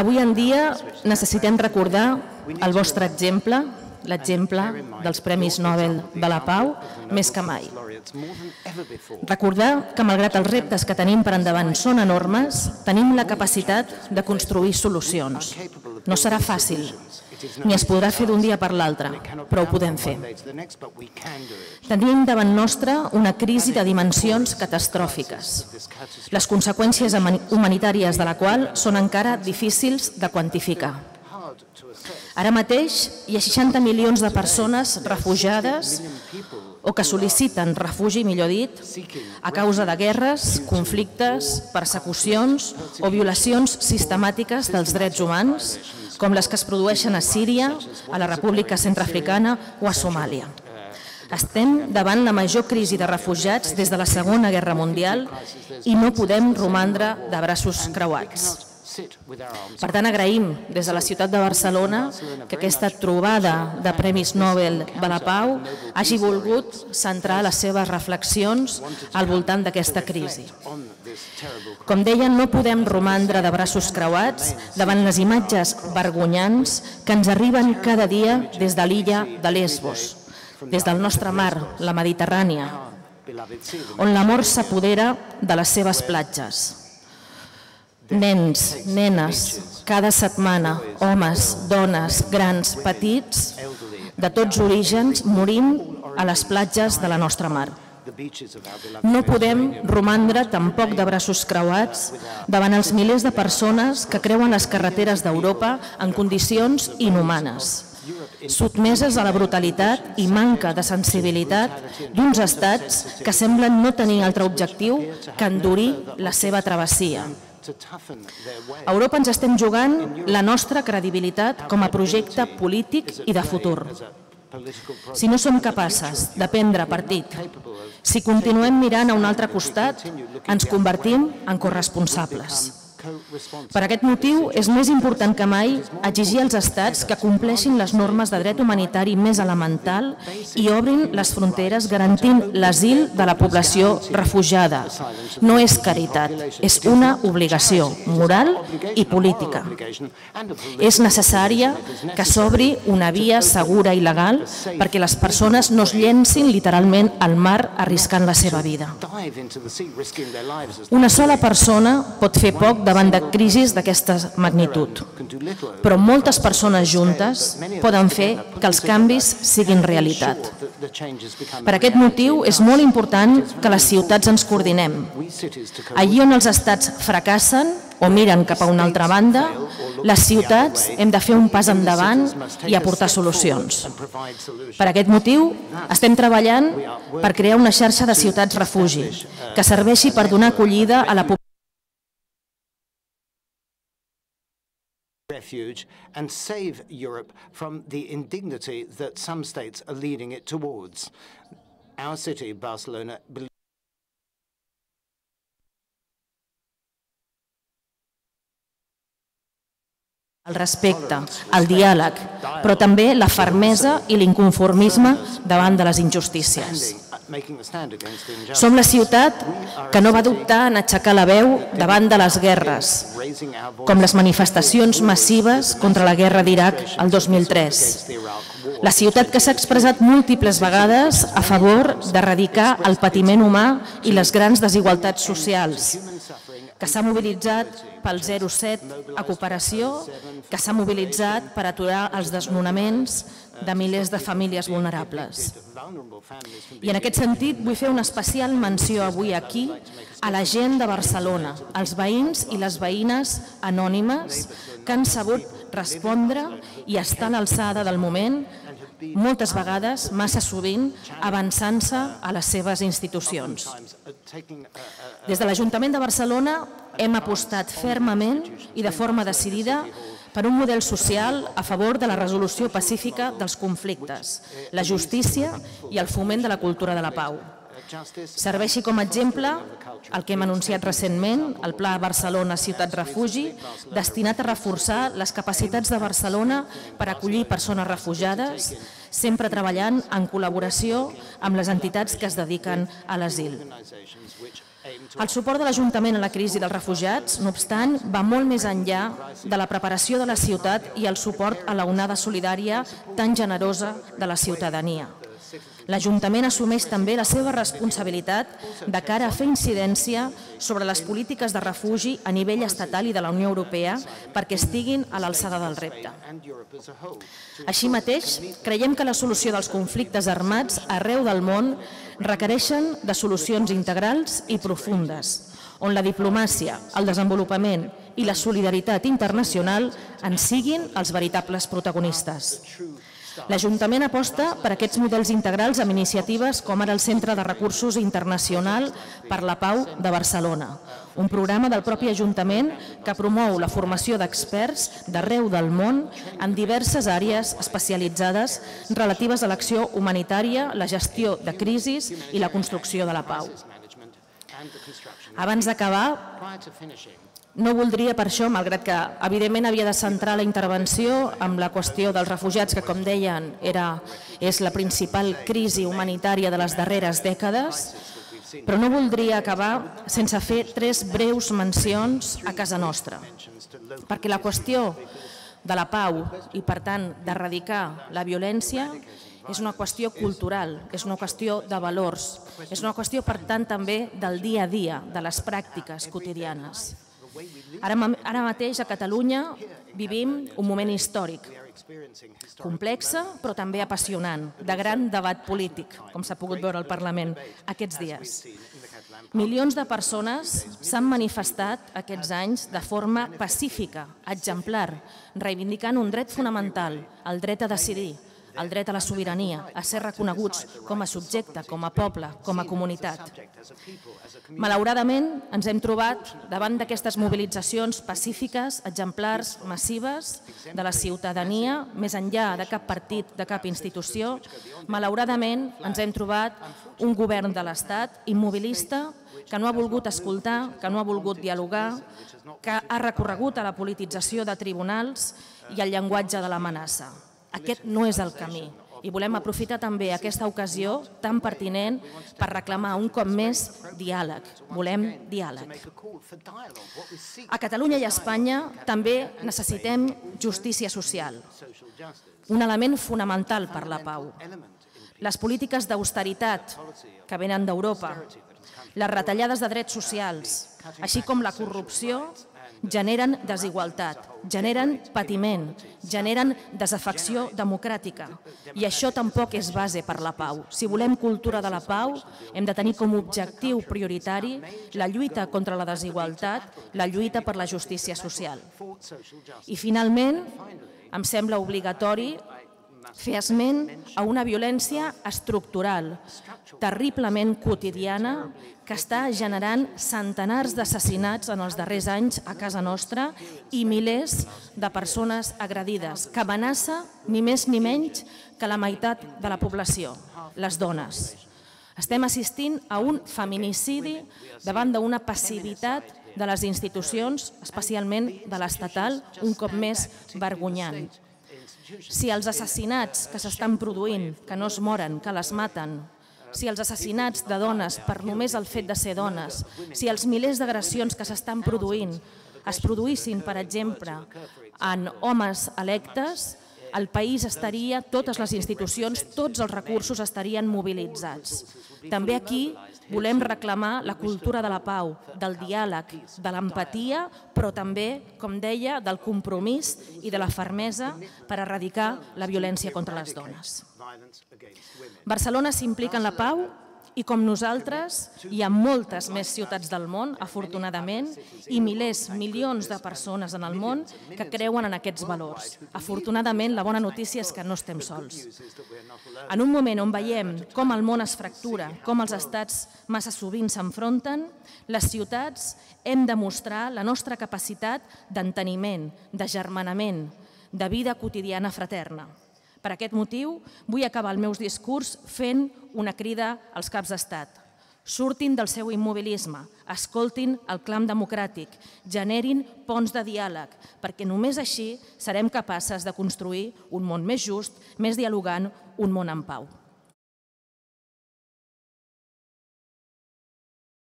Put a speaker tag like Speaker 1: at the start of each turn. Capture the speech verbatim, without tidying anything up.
Speaker 1: Avui en dia necessitem recordar el vostre exemple, l'exemple dels Premis Nobel de la Pau, més que mai. Recordar que, malgrat els reptes que tenim per endavant són enormes, tenim la capacitat de construir solucions. No serà fàcil, ni es podrà fer d'un dia per l'altre, però ho podem fer. Tenim davant nostre una crisi de dimensions catastròfiques, les conseqüències humanitàries de la qual són encara difícils de quantificar. Ara mateix hi ha seixanta milions de persones refugiades o que sol·liciten refugi, millor dit, a causa de guerres, conflictes, persecucions o violacions sistemàtiques dels drets humans, com les que es produeixen a Síria, a la República Centreafricana o a Somàlia. Estem davant la major crisi de refugiats des de la Segona Guerra Mundial i no podem romandre de braços creuats. Per tant, agraïm des de la ciutat de Barcelona que aquesta trobada de Premis Nobel de la Pau hagi volgut centrar les seves reflexions al voltant d'aquesta crisi. Com deia, no podem romandre de braços creuats davant les imatges vergonyants que ens arriben cada dia des de l'illa de Lesbos, des del nostre mar, la Mediterrània, on la mort s'apodera de les seves platges. Nens, nenes, cada setmana, homes, dones, grans, petits, de tots orígens, morim a les platges de la nostra mar. No podem romandre tampoc de braços creuats davant els milers de persones que creuen les carreteres d'Europa en condicions inhumanes, sotmeses a la brutalitat i manca de sensibilitat d'uns estats que semblen no tenir altre objectiu que endurir la seva travessia. A Europa ens estem jugant la nostra credibilitat com a projecte polític i de futur. Si no som capaces de prendre partit, si continuem mirant a un altre costat, ens convertim en corresponsables. Per aquest motiu, és més important que mai exigir als estats que compleixin les normes de dret humanitari més elemental i obrin les fronteres garantint l'asil de la població refugiada. No és caritat, és una obligació moral i política. És necessària que s'obri una via segura i legal perquè les persones no es llencin literalment al mar arriscant la seva vida. Una sola persona pot fer poc davant de crisis d'aquesta magnitud, però moltes persones juntes poden fer que els canvis siguin realitat. Per aquest motiu és molt important que les ciutats ens coordinem. Allí on els estats fracassen o miren cap a una altra banda, les ciutats hem de fer un pas endavant i aportar solucions. Per aquest motiu estem treballant per crear una xarxa de ciutats refugi que serveixi per donar acollida a la població
Speaker 2: refuge and save Europe from the indignity that some states are leading it towards. Our city, Barcelona,
Speaker 1: el respecte, el diàleg, però també la fermesa i l'inconformisme davant de les injustícies. Som la ciutat que no va dubtar en aixecar la veu davant de les guerres, com les manifestacions massives contra la guerra d'Iraq el dos mil tres. La ciutat que s'ha expressat múltiples vegades a favor d'erradicar el patiment humà i les grans desigualtats socials, que s'ha mobilitzat pel zero set a cooperació, que s'ha mobilitzat per aturar els desnonaments de milers de famílies vulnerables. I en aquest sentit vull fer una especial menció avui aquí a la gent de Barcelona, als veïns i les veïnes anònimes que han sabut respondre i estar a l'alçada del moment, moltes vegades, massa sovint, avançant-se a les seves institucions. Des de l'Ajuntament de Barcelona hem apostat fermament i de forma decidida per un model social a favor de la resolució pacífica dels conflictes, la justícia i el foment de la cultura de la pau. Serveixi com a exemple el que hem anunciat recentment, el Pla Barcelona Ciutat Refugi, destinat a reforçar les capacitats de Barcelona per acollir persones refugiades, sempre treballant en col·laboració amb les entitats que es dediquen a l'asil. El suport de l'Ajuntament a la crisi dels refugiats, no obstant, va molt més enllà de la preparació de la ciutat i el suport a la onada solidària tan generosa de la ciutadania. L'Ajuntament assumeix també la seva responsabilitat de cara a fer incidència sobre les polítiques de refugi a nivell estatal i de la Unió Europea perquè estiguin a l'alçada del repte. Així mateix, creiem que la solució dels conflictes armats arreu del món requereixen de solucions integrals i profundes, on la diplomàcia, el desenvolupament i la solidaritat internacional en siguin els veritables protagonistes. L'Ajuntament aposta per aquests models integrals amb iniciatives com ara el Centre de Recursos Internacional per la Pau de Barcelona, un programa del propi Ajuntament que promou la formació d'experts d'arreu del món en diverses àrees especialitzades relatives a l'acció humanitària, la gestió de crisis i la construcció de la pau. Abans d'acabar, no voldria per això, malgrat que evidentment havia de centrar la intervenció amb la qüestió dels refugiats, que com deien és la principal crisi humanitària de les darreres dècades, però no voldria acabar sense fer tres breus mencions a casa nostra, perquè la qüestió de la pau i per tant d'erradicar la violència és una qüestió cultural, és una qüestió de valors, és una qüestió per tant també del dia a dia, de les pràctiques quotidianes. Ara mateix a Catalunya vivim un moment històric, complex però també apassionant, de gran debat polític, com s'ha pogut veure al Parlament aquests dies. Milions de persones s'han manifestat aquests anys de forma pacífica, exemplar, reivindicant un dret fonamental, el dret a decidir, el dret a la sobirania, a ser reconeguts com a subjecte, com a poble, com a comunitat. Malauradament, ens hem trobat davant d'aquestes mobilitzacions pacífiques, exemplars, massives, de la ciutadania, més enllà de cap partit, de cap institució. Malauradament, ens hem trobat un govern de l'Estat immobilista que no ha volgut escoltar, que no ha volgut dialogar, que ha recorregut a la politització de tribunals i al llenguatge de l'amenaça. Aquest no és el camí i volem aprofitar també aquesta ocasió tan pertinent per reclamar un cop més diàleg. Volem diàleg. A Catalunya i a Espanya també necessitem justícia social, un element fonamental per la pau. Les polítiques d'austeritat que venen d'Europa, les retallades de drets socials, així com la corrupció, generen desigualtat, generen patiment, generen desafecció democràtica. I això tampoc és base per la pau. Si volem cultura de la pau, hem de tenir com a objectiu prioritari la lluita contra la desigualtat, la lluita per la justícia social. I finalment, em sembla obligatori fer esment a una violència estructural, terriblement quotidiana, que està generant centenars d'assassinats en els darrers anys a casa nostra i milers de persones agredides, que amenaça ni més ni menys que la meitat de la població, les dones. Estem assistint a un feminicidi davant d'una passivitat de les institucions, especialment de l'estatal, un cop més vergonyant. Si els assassinats que s'estan produint, que no es moren, que les maten, si els assassinats de dones per només el fet de ser dones, si els milers d'agressions que s'estan produint es produïssin, per exemple, en homes electes, el país estaria, totes les institucions, tots els recursos estarien mobilitzats. També aquí volem reclamar la cultura de la pau, del diàleg, de l'empatia, però també, com deia, del compromís i de la fermesa per erradicar la violència contra les dones. Barcelona s'implica en la pau i com nosaltres hi ha moltes més ciutats del món, afortunadament, i milers, milions de persones en el món que creuen en aquests valors. Afortunadament, la bona notícia és que no estem sols. En un moment on veiem com el món es fractura, com els estats massa sovint s'enfronten, les ciutats hem de mostrar la nostra capacitat d'enteniment, d'agermanament, de vida quotidiana fraterna. Per aquest motiu, vull acabar el meu discurs fent una crida als caps d'estat. Surtin del seu immobilisme, escoltin el clam democràtic, generin ponts de diàleg, perquè només així serem capaces de construir un món més just, més dialogant, un món en pau.